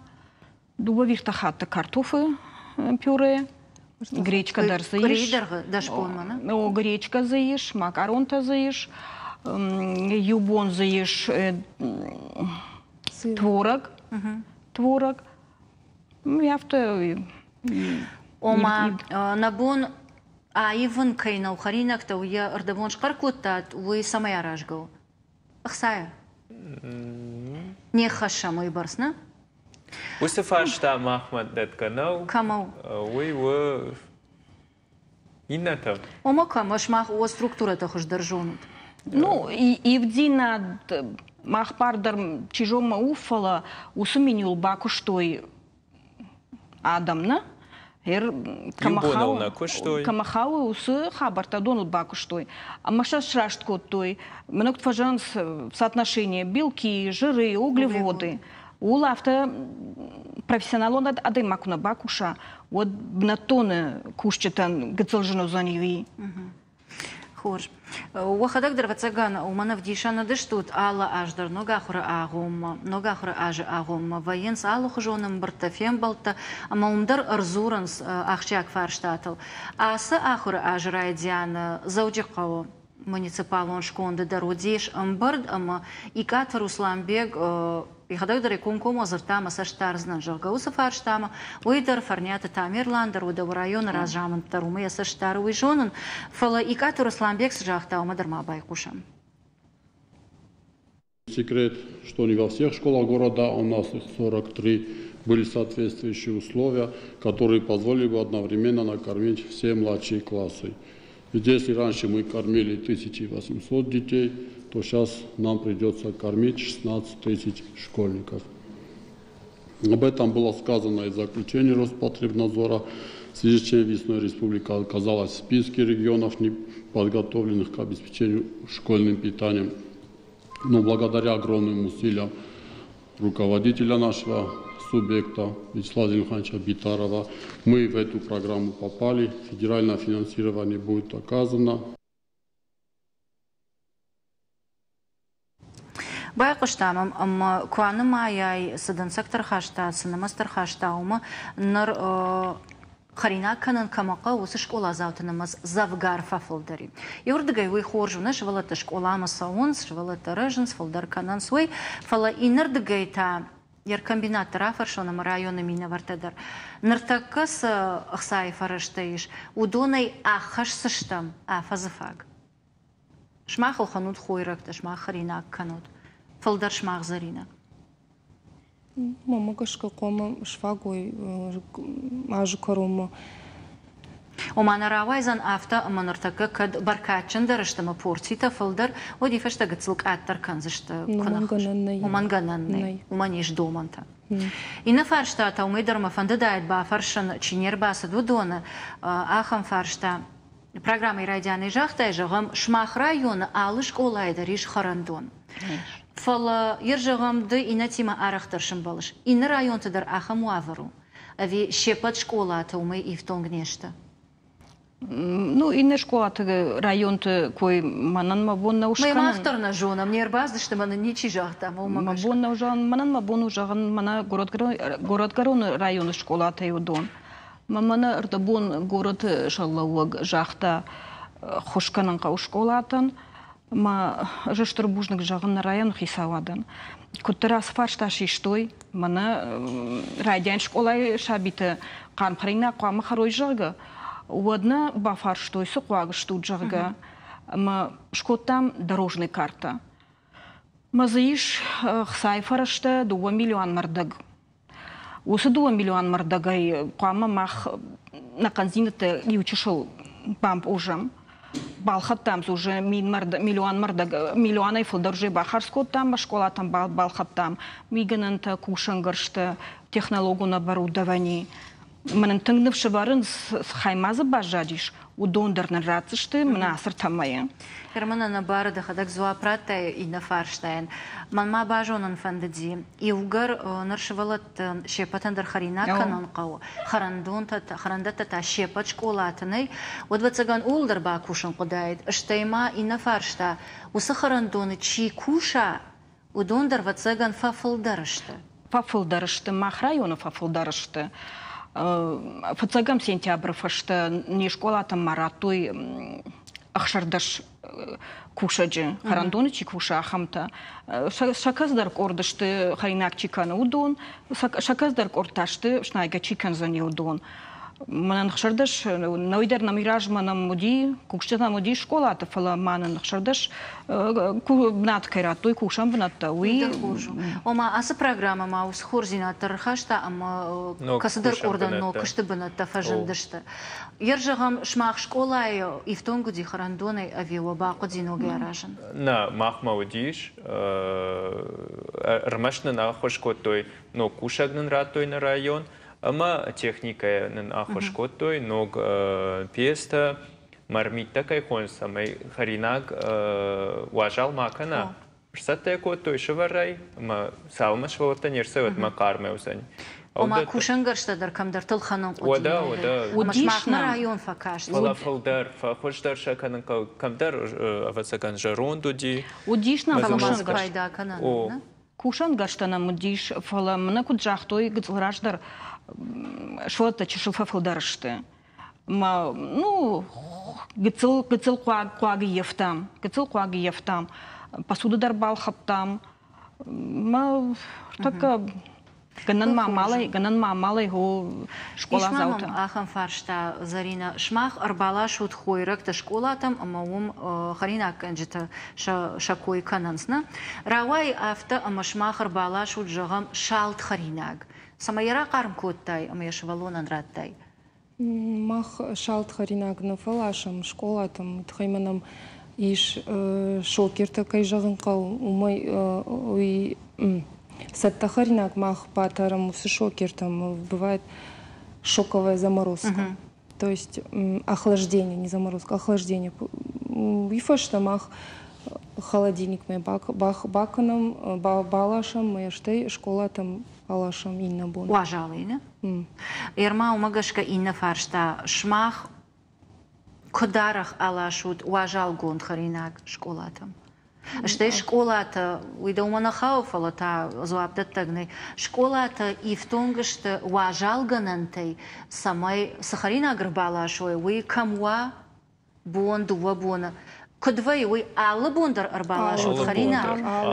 дыууӕ виртӕ хатты картофы пюре, гречка дӕр дзы ис. Дӕс бонмӕ, нӕ? О, гречка дзы ис, макаронтӕ дзы ис, иу бон дзы ис творог, творог. Афтӕ Ома нӕ бон аивын кӕй нӕу хӕринӕгтӕ, уый йӕ ӕрдӕбон схъӕр кодтат, уый цӕмӕй аразгӕ у? Ӕхцайӕ? Не ххӕссӕм уый бӕрц, нӕ? Уыцы фарста махмӕ дӕтгӕ нӕу. Кӕмӕ у? Уый у иннӕтӕм. Ома кӕмӕ, сымах уӕ структурӕтӕ хуыздӕр зонут? Ну, ивддзинад мах бар дӕр чи зонмӕ у, фӕлӕ уыцы менюыл бакуыстой адӕм, нӕ? Иу нӕ куыстой. Кӕмӕ хауы, уыцы хабӕрттӕ доныл бакуыстой. Ӕмӕ сӕ сраст кодтой. Мӕнӕ куыд фӕзӕгъынц соотношение белки, жиры, углеводы. Ууыл афтӕ профессионалон адӕймаг куы нӕ бакуса, уӕд бынӕттоны кусджытӕн гыццыл зын уыдзӕни уый. Хорз. Уӕхӕдӕг дӕр ӕвӕццӕгӕн уымӕн ӕвдисӕн уыдыстут алы аз дӕр ног ахуыры агъоммӕ, ног ахуыры азы агъоммӕ вӕййынц алыхуызон ӕмбырдтӕ, фембӕлдтӕ ӕмӕ уым дӕр ӕрдзурынц ахсджиаг фарстатыл. Ацы ахуыры азы райдианы Дзӕуджыхъӕуы муниципалон сконды дӕр уыдис ӕмбырд ӕмӕ Икъаты Русланбег йӕхӕдӕг дӕр комкоммӕ дзырдта ӕмӕ цӕст дардзынӕн, зӕгъгӕ, уыцы фарстамӕ. Уый дӕр Фӕрниаты Тамерлан дӕр уыд, районы разамынд дӕр уымӕ йӕ цӕст дары, уый зонын. Фӕлӕ Икъаты Русланбег цы загъта, уымӕ дӕр ма байхъусӕм. Секрет, что не во всех школах города, у нас их сорок три, были соответствующие условия, которые позволили бы одновременно накормить все младшие классы. Ведь если раньше мы кормили тысяча восемьсот детей, то сейчас нам придется кормить шестнадцать тысяч школьников. Об этом было сказано и в заключении Роспотребнадзора, в связи с чем весной республика оказалась в списке регионов, не подготовленных к обеспечению школьным питанием. Но благодаря огромным усилиям руководителя нашего субъекта Вячеслава Зелимхановича Битарова мы в эту программу попали, федеральное финансирование будет оказано. Байхъуыстам ӕмӕ куы анымайай, цы дӕнцӕгтӕ ӕрхаста, цы нымӕцтӕ ӕрхаста, уымӕ ныр хӕринаг кӕнын кӕмӕ хъӕуы, уыцы скъоладзауты нымӕц дзӕвгар фӕфылдӕр и. Иуырдыгӕй уый хорз у, нӕ сывӕллӕттӕ скъоламӕ цӕуынц, сывӕллӕттӕ рӕзынц, фылдӕр кӕнынц уый, фӕлӕ иннӕрдыгӕй та йӕ комбинатты рафӕрсон ӕмӕ районы минӕвӕрттӕ дӕр. Ныртӕккӕ цы ӕхцайы фӕрӕзтӕ ис, уыдонӕй ӕххӕсдзыстӕм афӕдзы фаг. Сымах ӕлхӕнут хойрӕгтӕ, сымах хӕринаг кӕнут. Фылдӕр сымах Зӕринӕ. Мӕнмӕ гӕсгӕ хъуамӕ сфаг уой азы кӕронмӕ. Ома нӕ рауайдзӕн афтӕ, ӕмӕ ныртӕккӕ кӕд бӕркадджындӕр сты ӕмӕ порцитӕ фылдӕр, уӕд и фӕстӕ гыццыл къаддӕр кӕндзысты. Уымӕн гӕнӕн нӕй. Уымӕн гӕнӕн нӕй. Уымӕн ис домӕнтӕ. Иннӕ фарста та уымӕй дӕр мӕ фӕндыдаид бафӕрсын, чи не рбацыд, уыдоны ахӕм фарста. Программӕйы райдианӕй загътай, зӕгъӕм, сымах районы алы скъолайы дӕр ис хӕрӕндон. Фӕлӕ йӕ зӕгъӕм, ды иннӕтимӕ арӕхдӕр сӕмбӕлыс. Иннӕ районты дӕр ахӕм уавӕр у? Ӕви се ппӕт скъолатӕ уымӕй ифтонг не сты? Ну, иннӕ скъолаты районты кой мӕнӕн мӕ бон нӕу скӕнын. Мах дӕр нӕ зонӕм, не рбацыдысты, мӕнӕн ничи загъта, уымӕ Мӕ бон нӕу зӕгъын, мӕнӕн мӕ бон у зӕгъын, мӕнӕ Горӕтгӕроны районы скъолатӕй уыдон. Мӕ мӕнӕ ӕрдӕбон горӕты сӕргълӕууӕг загъта, ххуыс кӕнын хъӕуы скъолатӕн. Мӕ ӕз стыр бузныг зӕгъын нӕ районы хицауадӕн. Куыддӕр ацы фарста систой, мӕнӕ райдиан скъолайы сабитӕ хъарм хӕринаг хъуамӕ хӕрой, зӕгъгӕ, уӕд нӕ бафарстой, цы хъуаг стут, зӕгъгӕ, ӕмӕ скодтам дорожный карта. Мӕ дзы ис хцайы фӕрӕзтӕ дыууӕ миллион мӕрдӕг. Уыцы дыууӕ миллион мӕрдӕгӕй хъуамӕ мах нӕ хъӕндзинӕдтӕ иучысыл бампъузӕм. Балхӕдтам дзы уже мин миллион мӕрдӕг, миллионӕй фылдӕр уже бахардз кодтам, скъолатӕм балхӕдтам мигӕнӕнтӕ, кусӕнгӕрзтӕ, технологон оборудовани. Мӕнӕн тынг ныфс ӕвӕрынц, цы хай ма дзы баззадис, уыдон дӕр нын ратдзысты мӕнӕ ацы ӕртӕ мӕйы. Герман, ӕнӕбары дӕхӕдӕг дзуапп радтай иннӕ фарстайӕн. Мӕн ма базонын фӕндыди, иугӕр ныр сывӕллӕтты се ппӕтӕн дӕр хӕринаг кӕнын хъӕуы, хӕрӕндӕттӕ та се ппӕт скъолаты нӕй, уӕд, ӕвӕццӕгӕн, ууыл дӕр бакусын хъуыдаид. Стӕй ма иннӕ фарста, уыцы хӕрӕндоны чи куса, уыдон дӕр, ӕвӕццӕгӕн, фӕфылдӕр сты. Фӕфылдӕр сты, мах районы фӕфылдӕр сты. Фыццӕгӕм сентябры фӕстӕ не скъолатӕм ма радтой ӕхсӕрдӕс кусӕджы, хӕрӕндоны чи кусы, ахӕмтӕ. Сӕ кӕцыдӕр къорд сты, хӕринаг чи кӕны, уыдон, сӕ кӕцыдӕр къорд та сты, снайгӕ чи кӕндзӕни, уыдон. Мӕнӕн ӕхсӕрдӕс, нӕуый дӕр нӕм размӕ нӕм уыди, кусджытӕ нӕм уыди скъолаты, фӕлӕ ма нын ӕхсӕрдӕс бынат кӕй радтой, кусӕн бынӕттӕ, уый... Хорз у. Ома ацы программӕ ма уыцы хорздзинад дӕр ӕрхаста ӕмӕ кӕцыдӕр къордӕн ног куысты бынӕттӕ фӕзындысты. Йер зӕгъӕм, сымах скъолайы ифтонг уыди хӕрӕндонӕй ӕви уӕ бахъуыди ногӕй аразын? Нӕ, махмӕ уыдис. Ӕрмӕст нын ӕххуыс кодтой, ног кусӕг нын радтой нӕ район, ӕмӕ техникӕйӕ нын ӕххуыс кодтой, ног пьестӕ, мармиттӕ кӕй хонынц, цӕмӕй хӕринаг уазал ма кӕна. Сцӕттӕ кодтой сывӕрӕй, ӕмӕ цалынмӕ сывӕллӕттӕ не рцӕуой, уӕдмӕ хъармӕй уыдзӕни. Ома кусӕнгӕрзтӕ дӕр кӕмдӕрты ӕлхӕнын хъуыди. Уӕдӕ, уӕдӕ. Ӕмӕ сымахмӕ район фӕкаст. Фӕлӕ фылдӕр, фӕхуыздӕр сӕ кӕнын хъӕуы. Кӕмдӕр, ӕвӕццӕгӕн, зӕронд уыди. Уыдис нӕм Фӕлӕ ма дзы пайда кӕнӕн, нӕ? Кусӕнгӕрзтӕ нӕм уыдис, фӕлӕ мӕнӕ куыд загътой гыццыл раздӕр, сывӕллӕттӕ чысыл фӕфылдӕр сты. Ма, ну, гыццыл, гыццыл хъуаг, хъуаг ӕййӕфтам, гыццыл хъуаг ӕййӕфтам. Посуда дӕр балхӕдтам. Ма тӕккӕ гӕнӕн ма амалӕй, гӕнӕн ма амалӕй хо скъоладзаутӕ. Ис ма мӕм ахӕм фарста, Зарина. Сымах ӕрбаласут хойрӕгтӕ скъолатӕм ӕмӕ уым хӕринаггӕнджытӕ сӕ кой кӕнынц, нӕ? Рауайы афтӕ, ӕмӕ сымах ӕрбаласут, зӕгъӕм, салд хӕринаг. Цӕмӕй йӕ рахъарм кодтай ӕмӕ йӕ сывӕллонӕн радтай? Мах салд хӕринаг нӕ фӕласӕм скъолатӕм, тыххӕй ма нӕм ис шокертӕ, кӕй зӕгъын хъӕуы, уымӕй уый цӕттӕ хӕринаг мах батӕрӕм уыцы шокертӕм, бывает шоковая заморозка. То есть охлаждение, не заморозка, охлаждение. Уый фӕстӕ мах холодильникмӕ бакӕнӕм, баласӕм, ӕмӕ стӕй скъолатӕм аласӕм иннӕ бон. Уазалӕй, нӕ? Ерма, уымӕ гӕсгӕ иннӕ фарста. Сымах куыд арӕх аласут уазалгонд хӕринаг скъолатӕм? Стӕй скъолатӕ, уый дӕумӕ нӕ хауы, фӕлӕ та дзуапдӕттӕг нӕй. Скъолатӕ ифтонг сты уазалгӕнӕнтӕй, цӕмӕй цы хӕринаг ӕрбаласой, уый кӕм уа, бон, дыууӕ боны. Куыд вӕййы, уый алы бон дӕр ӕрбаласут хӕринаг,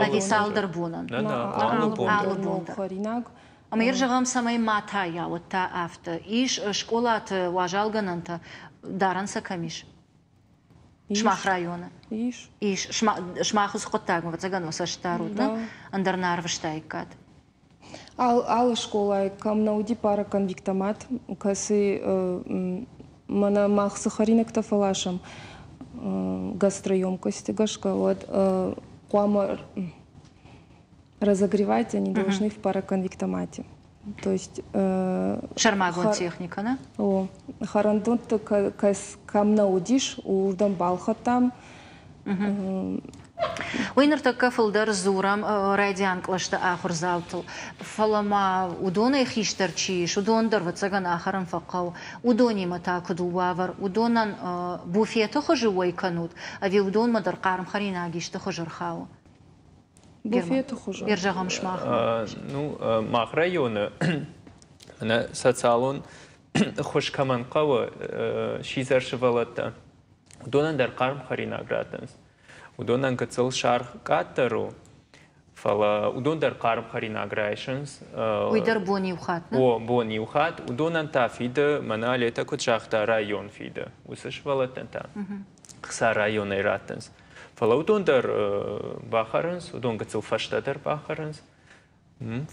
ӕви цалдӕр бонӕн? Нӕ, нӕ, алы бон дӕр. Алы бон дӕр. Хӕринаг. Ӕмӕ йӕ зӕгъӕм, цӕмӕй ма тайа, уӕд та афтӕ. Ис скъолаты уазалгӕнӕнтӕ, дарӕн сӕ кӕм ис? Сымах районы? Ис. Ис. Сымах уыцы хъуыддагмӕ, ӕвӕццӕгӕн, уӕ цӕст дарут, нӕ? Ӕндӕр нӕ арвыстаиккат. Алы скъолайы кӕм нӕ уыди параконвектомат, кӕцы мӕнӕ мах цы хӕринӕгтӕ фӕласӕм гастроемкости гӕсгӕ, уӕд хъуамӕ разогревать они должны в параконвектомате. То есть сӕрмагонд техникӕ, нӕ? О, хӕрӕндӕтты кӕм нӕ уыдис, уырдӕм балхӕдтам. Уый ныртӕккӕ фылдӕр дзурӕм райдиан кълӕсты ахуырдзаутыл, фӕлӕ ма уыдонӕй хистӕр чи ис, уыдон дӕр, ӕвӕццӕгӕн, ахӕрын фӕхъӕуы. Уыдонимӕ та куыд у уавӕр? Уыдонӕн буфеты хуызы уӕй кӕнут, ӕви уыдонмӕ дӕр хъарм хӕринаг исты хуызы рхауы? Буфеты хуызы. Зӕгъӕм, сымахмӕ. Ну, мах районы социалон ӕххуыс кӕмӕн хъӕуы, сидзӕр сывӕллӕттӕ, уыдонӕн дӕр хъарм хӕринаг раттынц. Уыдонӕн гыццыл саргъ къаддӕр у, фӕлӕ уыдон дӕр хъарм хӕринаг райсынц. Уый дӕр бон иу хатт, нӕ? О, бон иу хатт. Уыдонӕн та фиды, мӕнӕ Алетӕ куыд загъта, район фиды. Уыцы сывӕллӕттӕн та хца районӕй раттынц. Фӕлӕ уыдон дӕр бахӕрынц, уыдон гыццыл фӕстӕдӕр бахӕрынц,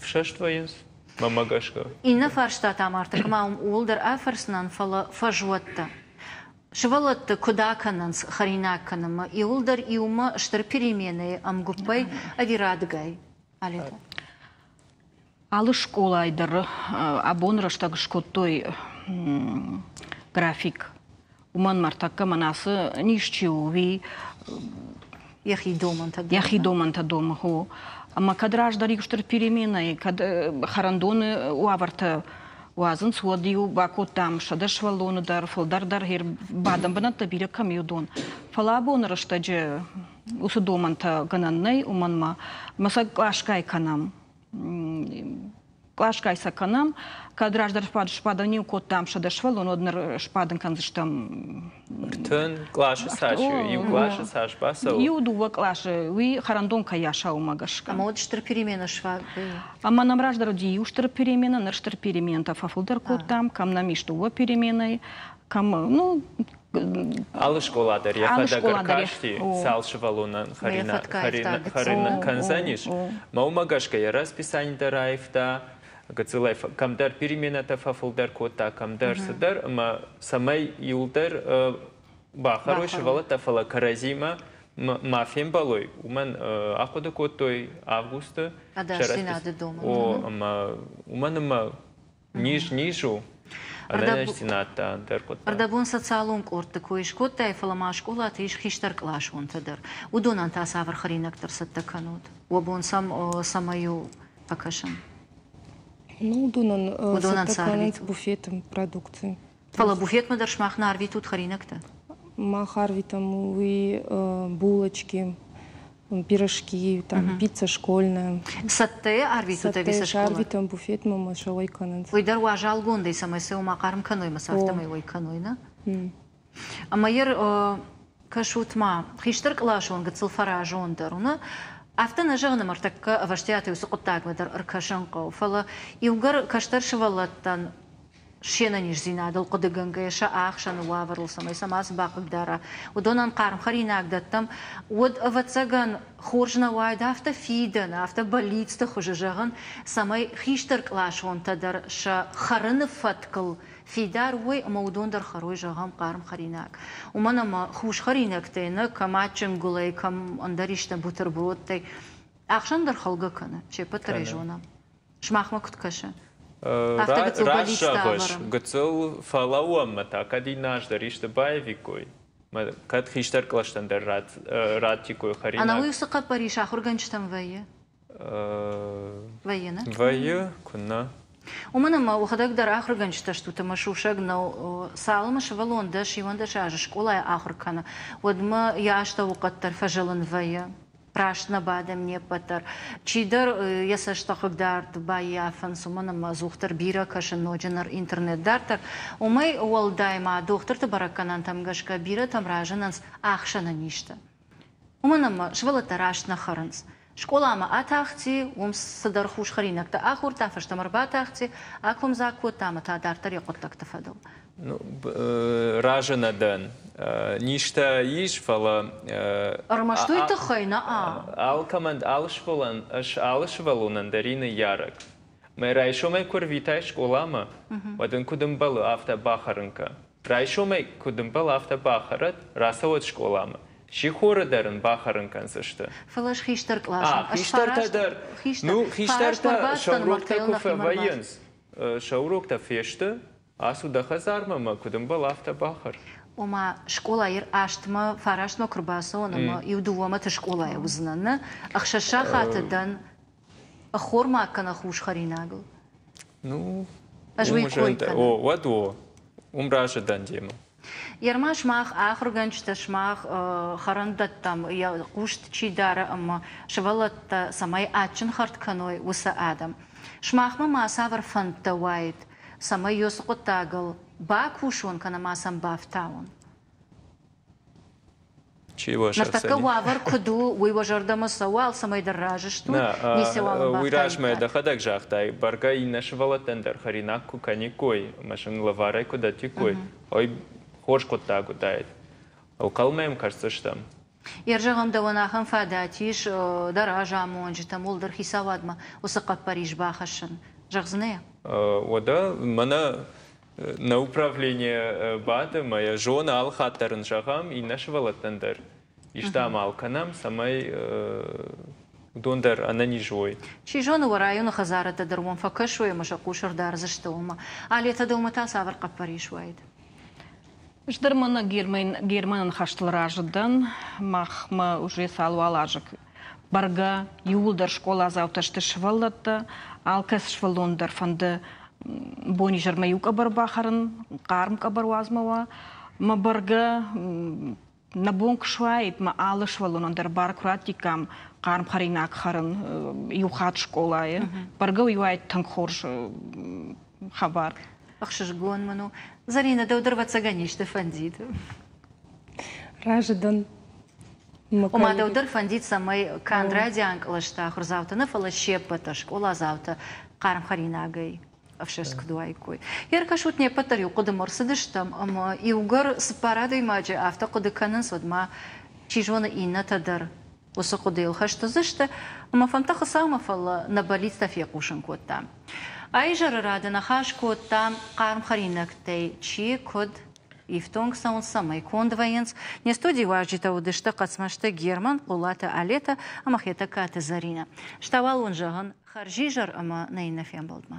фсӕст вӕййынц. Мӕнмӕ гӕсгӕ. Иннӕ фарста та ма ӕртыккӕмӕ ууыл дӕр афӕрсынӕн, фӕлӕ фӕзуӕттӕ. Сывӕллӕтты куыд акӕнынц хӕринаг кӕнынмӕ, иууылдӕр иумӕ стыр переменӕйы ӕмгуыппӕй ӕви радыгай? Алетӕ. Алы скъолайы дӕр абон рӕстӕг скодтой график. Уымӕн мӕртӕккӕ мӕн ацы низ чи у, уый йӕхи домӕнтӕ йӕхи домӕнтӕ домы. Ӕмӕ кӕд раздӕр иу стыр переменӕйы, кӕд хӕрӕндоны уавӕртӕ уадзынц, уӕд-иу бакодтам сӕдӕ сывӕллоны дӕр, фылдӕр дӕр бадӕн бынӕттӕ бирӕ кӕм и, уыдон. Фӕлӕ абоны рӕстӕджы уыцы домӕнтӕ гӕнӕн нӕй, уымӕн ма мӕ сӕ къласгай кӕнӕм. Къласгай сӕ кӕнӕм. Кӕд раздӕр сбадӕн-иу кодтам сӕдӕ сывӕллон, уӕд ныр сбадын кӕндзыстӕм ӕртын къласы цас иу къласы цас бацӕуы? Иу дыууӕ къласы, уый хӕрӕндон кӕй аса, уымӕ гӕсгӕ. Ӕмӕ уӕд стыр переменӕ сфаг Ӕмӕ нӕм раздӕр уыди иу стыр переменӕ, ныр стыр переменӕтӕ фӕфылдӕр кодтам, кӕм нӕм ис дыууӕ переменӕйы, кӕм, ну, Алы скъола дӕр йӕхӕдӕг ӕркасти, цал сывӕллонӕн хӕринаг кӕндзӕнис. Мӕ уымӕ гӕсгӕ йӕ расписани дӕр аивта, гыццылӕй кӕмдӕр переменӕтӕ фӕфылдӕр кодта, кӕмдӕр цыдӕр, ӕмӕ цӕмӕй иуылдӕр бахӕрой сывӕллӕттӕ, фӕлӕ кӕрӕдзимӕ ма фембӕлой, уымӕн ахъуыды кодтой августы. Ӕдасдзинады домӕнтӕ. О, ӕмӕ уымӕн ӕмӕ низ низ у. Ӕнӕниздзинад та ӕндӕр хъуыддаг. Ӕрдӕбон социалон къордты кой скодтай, фӕлӕ ма скъолаты ис хистӕркъласонтӕ дӕр. Уыдонӕн та цавӕр хӕринӕгтӕ ӕрцӕттӕ кӕнут? Уӕ бон сӕм цӕмӕй у фӕкӕсын? Ну, уыдонӕн цӕттӕ кӕнынц буфеты продукци. Фӕлӕ буфетмӕ дӕр сымах нӕ арвитут хӕринӕгтӕ? Мах арвитӕм уый булочки, пирожки, там, пицца школьная. Цӕттӕйӕ арвитут ӕви сӕ скъола? Арвитӕм буфетмӕ ӕмӕ сӕ уӕй кӕнынц. Уый дӕр уазалгондӕй, цӕмӕй сӕ уымӕ хъарм кӕной ӕмӕ сӕ афтӕмӕй уӕй кӕной, нӕ? Ӕмӕ йӕ кӕсут ма, хистӕркъласон гыццыл фӕразондӕр у, нӕ? Афтӕ нӕ зӕгъын, ӕмӕ ӕртӕккӕ ӕвӕстиатӕй уыцы хъуыддагмӕ дӕр ӕркӕсын хъӕуы, фӕлӕ иугӕр кӕстӕр сывӕллӕттӕн се нӕниздзинадыл хъуыдыгӕнгӕйӕ сӕ ӕхсӕны уавӕрыл, цӕмӕй сӕ мацы бахъыгдара, уыдонӕн хъарм хӕринаг дӕттӕм, уӕд, ӕвӕццӕгӕн, хорз нӕ уаид афтӕ фидӕны, афтӕ бӕллицты хуызы зӕгъын, цӕмӕй хистӕркъласонтӕ дӕр сӕ хӕрыны фӕткыл фидар уой ӕмӕ уыдон дӕр хӕрой, зӕгъӕм, хъарм хӕринаг. Уымӕн ӕмӕ хус хӕринӕгтӕй нӕ, кӕм адджын гуылӕй, кӕм ӕндӕр исты бутербродтӕй, ӕхсӕн дӕр хӕлгӕ кӕны, се ппӕт дӕр ӕй зонӕм. Сымахмӕ куыд кӕсы? Раст зӕгъыс, гыццыл фӕлӕууӕм ӕмӕ та кӕд иннӕ аз дӕр исты баивиккой, кӕд хистӕр кълӕстӕн дӕр раттиккой хӕринаг. Ӕнӕуый уыцы хъӕппӕрис ахуыргӕнджытӕм вӕййы? Вӕййы, нӕ? Вӕййы, куыннӕ. Уымӕн ӕмӕ уӕхӕдӕг дӕр ахуыргӕнджытӕ стут ӕмӕ сусӕг нӕу, цалынмӕ сывӕллон дӕс иуӕндӕс азы скъолайы ахуыр кӕны, уӕдмӕ йӕ астӕуыхъӕд дӕр фӕзылын вӕййы. Раст нӕ бадӕм не ппӕт дӕр. Чидӕр йӕ цӕсты хъыгдард баййафынц, уымӕн ӕмӕ ӕдзухдӕр бирӕ кӕсын, ноджы ныр интернет дарддӕр. Уымӕй уӕлдай ма дохтырты бӕрӕггӕнӕнтӕм гӕсгӕ бирӕтӕм разынынц ӕхсӕны низтӕ. Уымӕн ӕмӕ сывӕллӕттӕ раст нӕ хӕрынц. Скъоламӕ атахти, уым цыдӕр хус хӕринӕгтӕ ахордта, фӕстӕмӕ ӕрбатахти, акомдзаг кодта ӕмӕ та дарддӕр йӕ хъуыддӕгты фӕдыл. Разы нӕ дӕн. Низтӕ ис, фӕлӕ Ӕрмӕст уый тыххӕй нӕ? Алкӕмӕн, алы сывӕллонӕн дӕр и ныййарӕг. Мӕ райсомӕй куы ӕрвитай скъоламӕ, уӕд ын куыд ӕмбӕлы, афтӕ бахӕрын кӕ. Райсомӕй куыд ӕмбӕлы, афтӕ бахӕрӕд, рацӕуӕд скъоламӕ. Сихоры дӕр ын бахӕрын кӕндзысты. Фӕлӕ ӕз хистӕр къласӕн. Хистӕртӕ дӕр. Ну, хистӕртӕ сӕ уроктӕ куы фӕвӕййынц, сӕ уроктӕ фесты, ацу дӕ хӕдзармӕ ӕмӕ куыд ӕмбӕлы, афтӕ бахӕр. Ома скъолайы астмӕ, фарастмӕ куы рбацӕуон ӕмӕ иу дыууӕмӕты скъолайы уыдзынӕн, нӕ? Ӕхсӕз сахаты дӕн ӕххормаг кӕнӕ хус хӕринагыл. Ну, Ӕз уый кой кӕнын. О, уӕд о, уым разы дӕн демӕ. Ерма сымах ахуыргӕнджытӕ, сымах хӕрӕндӕттӕм йӕ хъус чи дары ӕмӕ сывӕллӕттӕ цӕмӕй адджын хӕрд кӕной, уыцы адӕм. Сымахмӕ ма цавӕр фӕндтӕ уаид, цӕмӕй уыцы хъуыддагыл бакусон кӕнӕ ма сӕм бафтауон? Чи уӕ Ныртӕккӕ уавӕр куыд у, уый уӕ зӕрдӕмӕ цӕуы, алцӕмӕй дӕр разы стут? Нӕ, уый размӕ дӕхӕдӕг загътай, бӕргӕ иннӕ сывӕллӕттӕн дӕр хӕринаг куы кӕниккой ӕмӕ сын лӕварӕй куы дӕттиккой, ой, хорз хъуыддаг уыдаид. Ӕнхъӕлмӕ йӕм кӕсдзыстӕм. Йер зӕгъӕм, дӕуӕн ахӕм фадат ис дӕ разамонджытӕм, уӕлдӕр хицауадмӕ уыцы хъӕппӕрис бахӕссын. Зӕгъдзынӕ йӕ? Уӕдӕ мӕнӕ нӕ управление бады ӕмӕ йӕ зоны, алы хатт дӕр ын зӕгъӕм, иннӕ сывӕллӕттӕн дӕр исты амал кӕнӕм, цӕмӕй уыдон дӕр ӕнӕниз уой. Чи зоны, уӕ районы хӕдзарӕдтӕ дӕр уӕм фӕкӕсой ӕмӕ сӕ хъус ӕрдардзысты уымӕ. Алетӕ, дӕумӕ та цавӕр хъӕппӕрис уаид? Ӕз дӕр мӕнӕ Германы ныхӕстыл разы дӕн. Махмӕ уже цал-уал азы бӕргӕ иууылдӕр скъоладзаутӕ сты сывӕллӕттӕ. Алкӕцы сывӕллон дӕр фӕнды бонизӕрмӕ иу къӕбӕр бахӕрын, хъарм къӕбӕр уадзмӕ уа. Мӕ бӕргӕ нӕ бон куы суаид, мӕ алы сывӕллонӕн дӕр бар куы раттиккам хъарм хӕринаг хӕрын иу хатт скъолайы. Бӕргӕ уый уаид тынг хорз хабар. Ӕхсызгон мын у. Зӕринӕ, дӕу дӕр ӕвӕццӕгӕн исты фӕндид? Разы дӕн. Ома дӕу дӕр фӕндид, цӕмӕй канд райдиан кълӕсты ахуырдзаутӕ нӕ, фӕлӕ се ппӕт дӕр скъоладзаутӕ хъарм хӕринагӕй ӕфсӕст куыд уаиккой. Ӕркӕсут, не ппӕт дӕр иу хъуыдымӕ ӕрцыдыстӕм, ӕмӕ иугӕр цыппар адӕймаджы афтӕ хъуыды кӕнынц, уӕд ма, чи зоны, иннӕтӕ дӕр уыцы хъуыдыйыл хӕст уыдзысты, ӕмӕ фӕндтӕ Хуыцаумӕ, фӕлӕ нӕ бӕллицтӕ фехъусын кодтам. Аизӕры рады ныхас кодтам хъарм хӕринӕгтӕй чи куыд ифтонг цӕуынц, цӕмӕй конд вӕййынц. Не студийы уазджытӕ уыдысты Хъӕцмӕзты Герман, Хъулаты Алетӕ ӕмӕ Хетӕгкаты Зӕринӕ. Стауал уын зӕгъын хӕрзизӕр ӕмӕ нӕ иннӕ фембӕлдмӕ.